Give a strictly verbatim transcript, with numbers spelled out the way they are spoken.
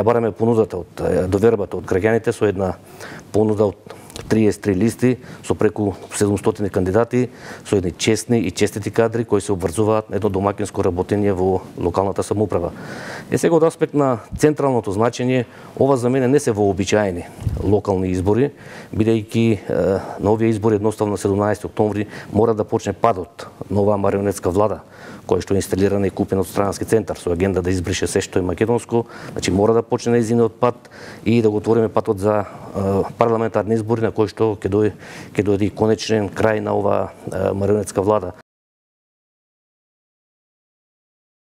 Ја бараме понудата од довербата од граѓаните со една понуда од триесет и три листи со преку седумстотини кандидати, со едни честни и честити кадри кои се обврзуваат на едно домакинско работење во локалната самоуправа. Е сега од аспект на централното значење, ова за мене не се вообичаени локални избори, бидејќи на овие избори едноставно на седумнаесети октомври мора да почне падот на оваа марионетска влада, кој што е инсталирана и купена од странски центар со агенда да избрише се што е македонско, значи мора да почне нејзиниот пат и да го отвориме патот за парламентарни избори на кој што ќе дојде ќе дојде и конечен крај на оваа марионетска влада.